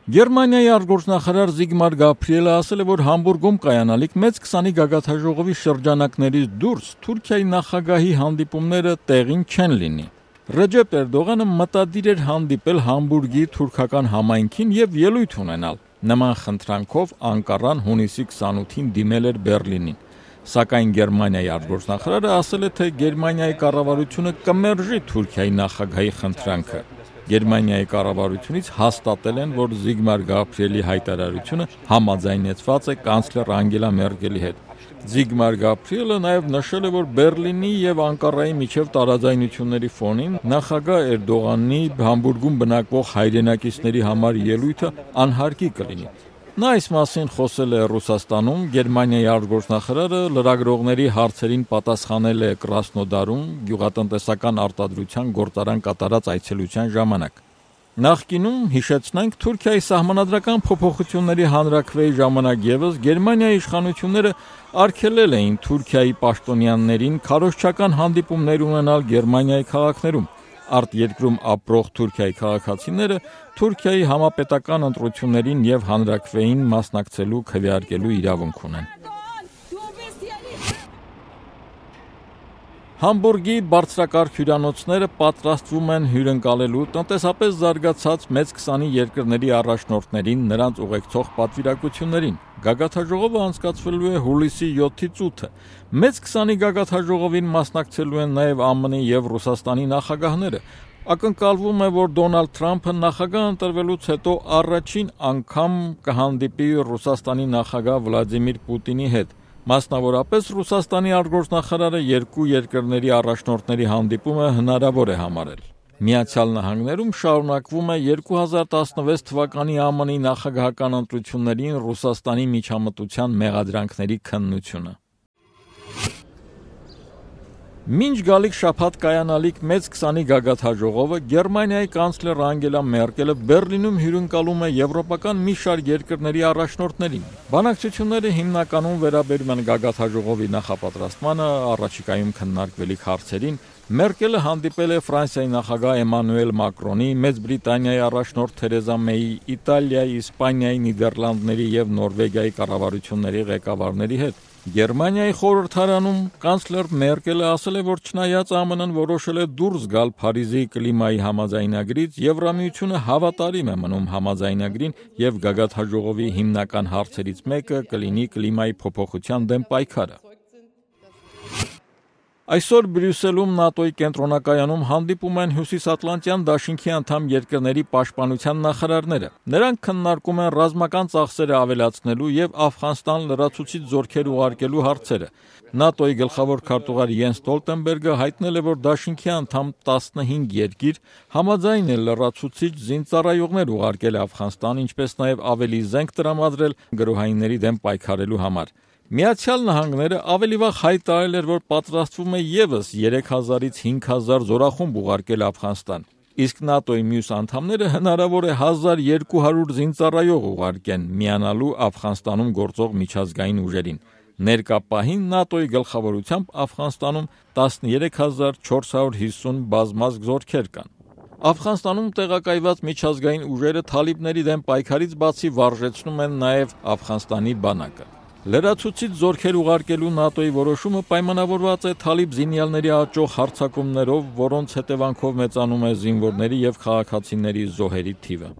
Գերմանիայի արտգործնախարար Զիգմար Գաբրիելը ասել է, որ Համբուրգում կայանալիք մեծ 20 գագաթաժողովի շրջանակներից դուրս Թուրքիայի նախագահի հանդիպումները տեղին չեն լինի։ Ռեջեփ Էրդողանը մտադիր էր հանդիպել Համբուրգի թուրքական համայնքին եւ ելույթ ունենալ։ Նման խնդրանքով Անկարան հունիսի 28-ին դիմել էր Բեռլինին։ Սակայն Գերմանիայի արտգործնախարարը ասել է, թե Գերմանիայի կառավարությունը կմերժի Թուրքիայի նախագահի խնդրանքը։ Գերմանիայի կառավարությունից հաստատել են, որ Զիգմար Գաբրիելի հայտարարությունը համաձայնեցված է կանցլեր Անգելա Մերկելի հետ։ Զիգմար Գաբրիելը նաև նշել է, որ Բեռլինի եւ Անկարայի միջև տարաձայնությունների ֆոնին նախագահ Էրդողանի Համբուրգում բնակվող հայրենակիցների համար ելույթը անհարկի կլինի։ Նա այս մասին խոսել է Ռուսաստանում, Գերմանիայի արտգործնախարարը լրագրողների հարցերին պատասխանել է Կրասնոդարում գյուղատնտեսական արտադրության գործարան կատարած այցելության ժամանակ։ Նախկինում, հիշեցնենք, Թուրքիայի սահմանադրական փոփոխությունների հանրաքվեի ժամանակ ևս Գերմանիայի իշխանությունները արգելել էին Թուրքիայի պաշտոնյաներին քարոզչական հանդիպումներ ունենալ Գերմանիայի քաղաքներում։ Արտերկրում ապրող Թուրքիայի քաղաքացիները Թուրքիայի համապետական ընտրություններին եւ հանրաքվեին մասնակցելու քվեարկելու իրավունք ունեն։ Համբուրգի բարձրակարգ հյուրանոցները պատրաստվում են հյուրընկալելու տնտեսապես զարգացած մեծ 20 երկրների առաջնորդներին նրանց ուղեկցող պատվիրակություններին։ Գագաթաժողովը անցկացվելու է հուլիսի 7-ից 8-ը։ Մեծ 20 գագաթաժողովին մասնակցելու են նաև ԱՄՆ-ի եւ Ռուսաստանի նախագահները։ Ակնկալվում է, որ Դոնալդ Թրամփը նախագահ ընտրվելուց հետո առաջին անգամ կհանդիպի Ռուսաստանի նախագահ Վլադիմիր Պուտինի հետ։ Մասնավորապես Ռուսաստանի արտգործնախարարը երկու երկրների առաջնորդների հանդիպումը հնարավոր է համարել։ Միացյալ Նահանգներում շարունակվում է 2016 թվականի ԱՄՆ-ի նախագահական ընտրություններին Ռուսաստանի միջամտության մեղադրանքների քննությունը։ Մինչ գալիք շաբաթ կայանալիք մեծ 20 գագաթաժողովը Գերմանիայի կանցլեր Անգելա Մերկելը Բեռլինում հյուրընկալում է եվրոպական մի շարք երկրների առաջնորդներին։ Բանակցությունները հիմնականում վերաբերում են գագաթաժողովի նախապատրաստմանը, առաջիկայում քննարկվելիք հարցերին։ Մերկելը հանդիպել է Ֆրանսիայի նախագահ Էմանուել Մակրոնի, Մեծ Բրիտանիայի առաջնորդ Թերեզա Մեյի, Իտալիայի, Իսպանիայի, Նիդերլանդների եւ Նորվեգիայի կառավարությունների ղեկավարների հետ։ Գերմանիայի խորհրդարանում կանցլեր Մերկելը ասել է, որ չնայած ԱՄՆ-ն որոշել է դուրս գալ Փարիզի կլիմայի համաձայնագրից, Եվրամիությունը հավատարիմ է մնում համաձայնագրին եւ գագաթաժողովի հիմնական հարցերից մեկը կլինի կլիմայի փոփոխության դեմ պայքարը։ Այսօր Բրյուսելում ՆԱՏՕ-ի կենտրոնակայանում հանդիպում են Հյուսիսատլանտյան դաշինքի անդամ երկրների պաշտպանության նախարարները։ Նրանք քննարկում են ռազմական ծախսերը ավելացնելու եւ Աֆղանստան լրացուցիչ զորքեր ուղարկելու հարցերը։ ՆԱՏՕ-ի գլխավոր քարտուղար Յենս Ստոլտենբերգը հայտնել է, որ դաշինքի անդամ 15 երկիր համաձայն է լրացուցիչ զինծառայողներ ուղարկել Աֆղանստան, ինչպես նաեւ ավելի զենք տրամադրել գրոհայինների դեմ պայքարելու համար։ Միացյալ Նահանգները ավելի վաղ հայտարարել էր, որ պատրաստվում է ևս 3000-ից 5000 զորախումբ ուղարկել Աֆղանստան։ Իսկ ՆԱՏՕ-ի մյուս անդամները հնարավոր է 1200 զինծառայող ուղարկեն միանալու Աֆղանստանում գործող միջազգային ուժերին։ Ներկա պահին ՆԱՏՕ-ի գլխավորությամբ Աֆղանստանում 13450 բազմազգ զորքեր կան։ Աֆղանստանում տեղակայված միջազգային ուժերը թալիբների դեմ պայքարից բացի վարժեցնում են նաև Աֆղանստանի բանակը։ Լրացուցիչ զորքեր ուղարկելու ՆԱՏՕ-ի որոշումը պայմանավորված է թալիբ զինյալների աճող հարձակումներով, որոնց հետևանքով մեծանում է զինվորների եւ քաղաքացիների զոհերի թիվը։